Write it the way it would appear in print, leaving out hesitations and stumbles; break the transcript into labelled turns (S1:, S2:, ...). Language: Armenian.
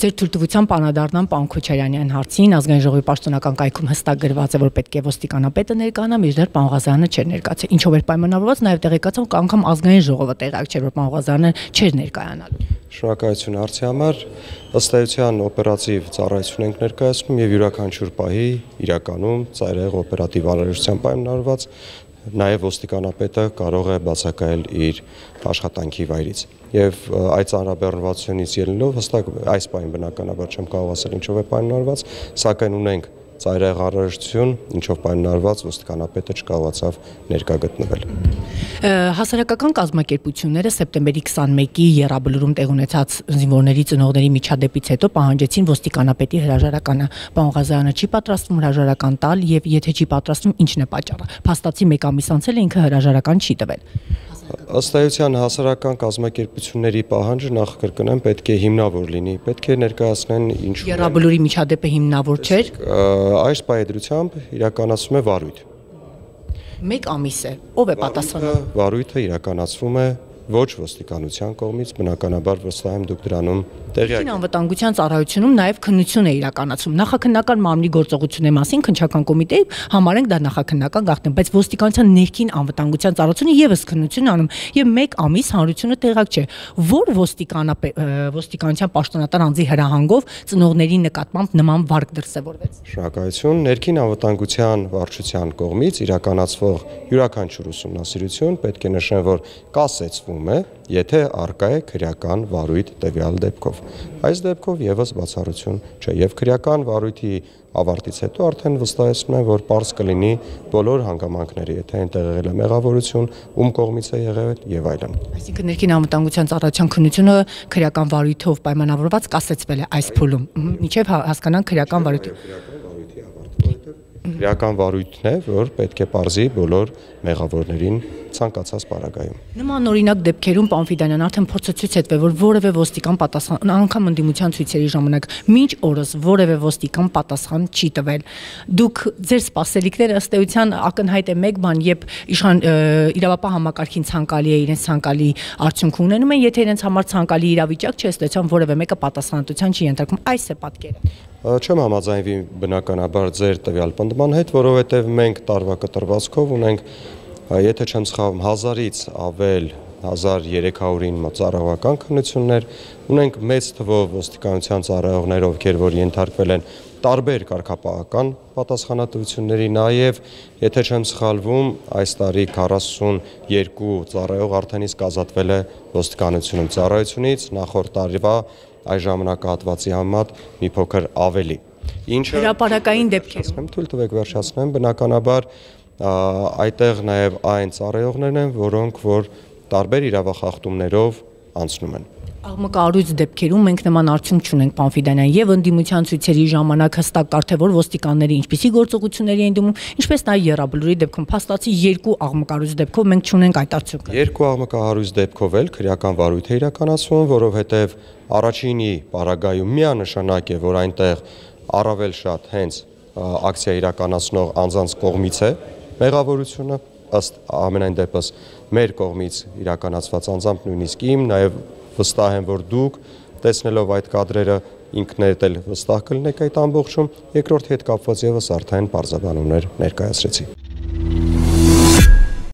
S1: Ձեր թույլտվությամբ անդրադառնամ պարոն Քոչարյանի այն հարցին, ազգային ժողովի պաշտոնական կայքում հստակ գրված է, որ պետք է ոստիկանապետը ներկայանա, մինչդեռ պարոն Ղազարյանը չէր ներկայացել։ Ինչով էր պայմանավորված, նաև տեղեկացավ, որ անգամ ազգային ժողովը տեղյակ չէր, որ պարոն Ղազարյանը չէր ներկայանալու։
S2: Շնորհակալություն հարցի համար։ Ըստ էության օպերատիվ ծառայություն ենք ներկայացնում եւ յուրաքանչյուր պահի իրականում ծայրահեղ օպերատիվ անհրաժեշտությամբ պայմանավորված նաև ոստիկանապետը կարող է բացակայել իր աշխատանքի վայրից։ Եվ այդ ծանրաբեռնվածությունից ելնելով հստակ այս պահին բնականաբար չեմ կարող ասել ինչով է պայմանավորված, սակայն ունենք ծայրահեղ անհրաժեշտություն, ինչով պայմանավորված ոստիկանապետը չկարողացավ ներկա գտնվել։
S1: Հասարակական կազմակերպությունները սեպտեմբերի 21-ի Եռաբլուրում տեղ ունեցած զինվորների ծնողների միջադեպից հետո պահանջեցին ոստիկանապետի հրաժարականը։ Պարոն Ղազարյանը չի պատրաստվում հրաժարական տալ եւ եթե չի պատրաստվում, ինչն է պատճառը։ Փաստացի մեկ ամիս անցել է ինքը հրաժարական չի տվել։
S2: Ըստ էության հասարակական կազմակերպությունների պահանջը նախ կրկնեմ պետք է հիմնավոր լինի, պետք է ներկայացնեն ինչու։
S1: Եռաբլուրի միջադեպը հիմնավոր չէր։
S2: Այս պայմանությամբ իրականացվում է վարույթ։
S1: Մեկ ամիս է, ով է պատասխանում։
S2: Վարույթը իրականացվում է ոչ ոստիկանության կողմից, բնականաբար վստահ եմ դուք դրանում տեղյակ եք։
S1: Անվտանգության ծառայությունում նաև քննություն է իրականացվում։ Նախաքննական մարմնի գործողությունների մասին քննչական կոմիտեի համարենք դա նախաքննական գաղտնի, բայց ոստիկանության ներքին անվտանգության ծառայությունը եւս քննություն անում եւ մեկ ամիս հանրությունը տեղյակ չէ, որ ոստիկանության պաշտոնատար անձի հրահանգով ծնողների նկատմամբ նման վարք դրսևորվեց։
S2: Շնորհակալություն։ Ներքին անվտանգության վարչության կողմից իրականացվող յուրաքանչյուր ուսումնասիրություն պետք է նշեն, որ կասեցվում է, եթե առկա է քրեական վարույթ տվյալ դեպքով։ Այս դեպքով եւս բացառություն չէ եւ քրեական վարույթի ավարտից հետո արդեն վստահեցնում են, որ պարզ կլինի բոլոր հանգամանքները, եթե այնտեղ եղել է մեղավորություն, ում կողմից է եղել եւ այլն։
S1: Այսինքն ներքին անվտանգության ծառայության քննությունը քրեական վարույթով պայմանավորված կասեցվել է այս փուլում, մինչեւ հասկանան քրեական վարույթի։
S2: Քրեական վարույթն է, որ պետք է պարզի բոլոր մեղավորներին ցանկացած պարագայում։
S1: Նման օրինակ դեպքերում պարոն Ֆիդանյան արդեն փորձը ցույց է տվել, որ որևէ ոստիկան պատասխան անգամ ընդդիմության ցույցերի ժամանակ մինչ օրս որևէ ոստիկան պատասխան չի տվել։ Դուք ձեր սպասելիքները ըստ էության ակնհայտ է մեկ բան, երբ իրավապահ համակարգին ցանկալի է իրենց ցանկալի արդյունք ունենում են, եթե իրենց համար ցանկալի իրավիճակ չէ, ըստ էության որևէ մեկը պատասխանատվության չի ենթարկվում։ Այս է պատկերը։
S2: Չեմ համաձայնվի բնականաբար ձեր տվյալ պնդման հետ, որովհետև մենք տարվա կտրվածքով ունենք, եթե չեմ սխալվում, 1000-ից ավել 1300-ին ծառայողական քննություններ, ունենք մեծ թվով ոստիկանության ծառայողներ, ովքեր որ ենթարկվել են տարբեր կարգապահական պատասխանատվությունների, նաև եթե չեմ սխալվում, այս տարի 42 ծառայող արդեն իսկ ազատվել է ոստիկանությունում ծառայությունից, նախորդ տարվա այս ժամանակահատվածի համեմատ մի փոքր ավելի։ Ինչը
S1: հրապարակային դեպքերում
S2: թույլ տվեք վերջացնեմ, բնականաբար այդտեղ նաև այն ծառայողներն են, որոնք որ տարբեր իրավախախտումներով անցնում են։
S1: Աղմկահարույց դեպքերում մենք նման արդյունք չունենք, պարոն Ֆիդանյան, եւ ընդդիմության ցույցերի ժամանակ հստակ կարդե որ ոստիկանները ինչպիսի գործողությունների են դիմում, ինչպես նաեւ Եռաբլուրի դեպքում փաստացի 2 աղմկահարույց դեպքով մենք չունենք այդ արդյունքը։
S2: 2 աղմկահարույց դեպքով էլ քրեական վարույթ է իրականացվում, որովհետեւ առաջինի պարագայում միանշանակ է, որ այնտեղ առավել շատ հենց ակցիա իրականացնող անձանց կողմից է մեղավորությունը, ըստ ամենայն դեպս մեր կողմից իրականացված անձամբ նույնիսկ իմ, նաև վստահ եմ, որ դուք տեսնելով այդ կադրերը ինքներդ էլ վստահ կլինեք այդ ամբողջում, երկրորդ հետ կապված եւս արդեն բարձաբանումներ ներկայացրեցի։